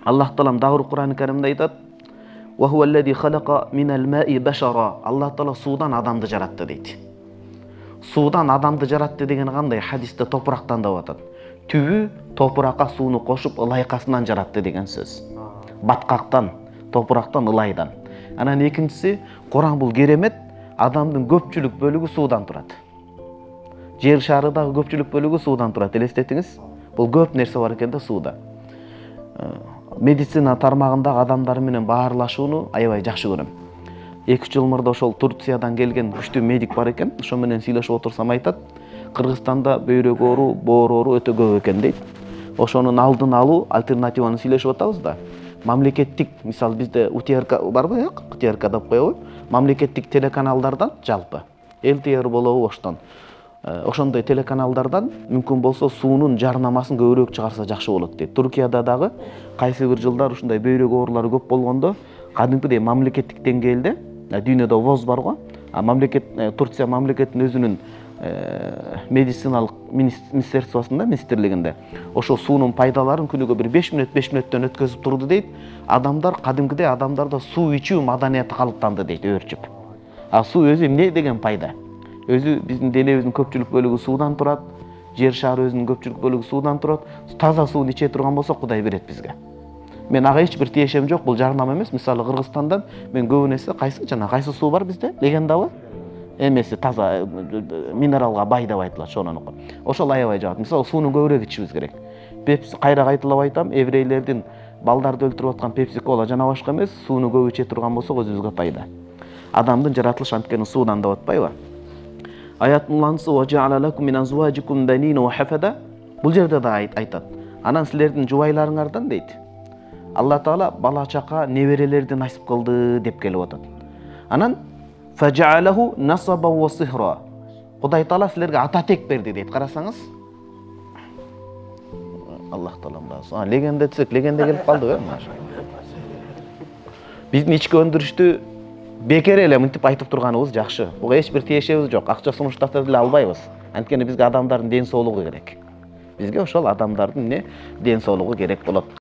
Аллах Таалам дагы Кур'ан-ы Каримде айтат: "Ва хуаллази халака минал ма'i башара". Аллах Таала суудан адамды жаратты дейт. Суудан адамды жаратты деген кандай? Хадисте топурактан деп атат. Түбү топуракка сууну кошуп ылайкасынан жаратты деген сөз. Баткактан, топурактан, ылайдан. Анан экинчиси, Кур'ан бул керемет, адамдын көпчүлүк бөлүгү суудан турат. Жер шарындагы көпчүлүк бөлүгү суудан турат. Элестетиңиз, бул көп нерсе бар экен да сууда. Медицина тармагындагы адамдар менен баарлашууну аябай жакшы көрөм. 2 жыл мурда ошол Турциядан келген күчтүү медик бар экен. Ошо менен сүйлөшүп отурсам айтат, Кыргызстанда бөйрөк оору, боор оору өтө көп экен дейт. Ошонун алдын алуу альтернативаны сүйлөшүп атабыз да. Мамлекеттик, мисалы бизде УТРК барбы, жок? УТРК деп коебу? Мамлекеттик телеканалдардан жалпы ЛТР болобу оштон. Ошондой телеканалдардан мүмкүн болсо суунун жарнамасын көбүрөөк чыгарса жакшы болот дейт. Туркияда дагы кайсы бир жылдар ушундай бөйрөк оорулары көп болгондо кадимкидей мамлекеттик деңгээлде, дүйнөдө ВОЗ бар го, Турция мамлекетинин өзүнүн медициналык министрлигинде, ошо суунун пайдаларын күнүгө бир 5 мүнөттөн өткөзүп турду дейт. Адамдар кадимкидей адамдарда суу ичүү маданияты калыптанды дейт, өөрчүп. Суу өзү эмне деген пайда? Өзү биздин денебиздин көпчүлүк бөлүгү суудан турат, жер шары өзүнүн көпчүлүк бөлүгү суудан турат. Таза сууну иче турган болсок Кудай берет бизге. Мен ага эч бир тиешем жок, бул жарнама эмес. Мисалы Кыргызстандан мен көбүнесе кайсы суу бар бизде? Легендабы? Эмеси таза минералга бай деп айтылат, ошонун. Ошол аябай жагат. Мисалы сууну көбүрөөк ичишибиз керек. Пепси кайра кайталап айтам, еврейлердин балдарды өлтүрүп аткан пепси-кола жана башка эмес, сууну көп иче турган болсок өзүбүзгө пайда. Адамдын жаратылышы анткени суудан деп атпайбы? Аяттын уланысы "Ва жа'ала лакум мин азважикум банина ва хафада". Бул жерде да айтат. Анан силердин жубайларыңардан дейт. Алла Таала бала чака, неберелерди насип кылды деп келип атат. Анан фажа'алаху насаба ва сихра. Кудай Таала силерге ата тек берди дейт. Карасаңыз. Аллах Таалам. Легенда десек, легенда келип калды, биздин ички өндүрүштү бекер эле мынтип айтып турганыбыз жакшы. Буга эч бир тиешебиз жок. Акча сунуштатып деле албайбыз. Анткени бизге адамдардын ден соолугу керек. Бизге ошол адамдардын ден соолугу керек болот.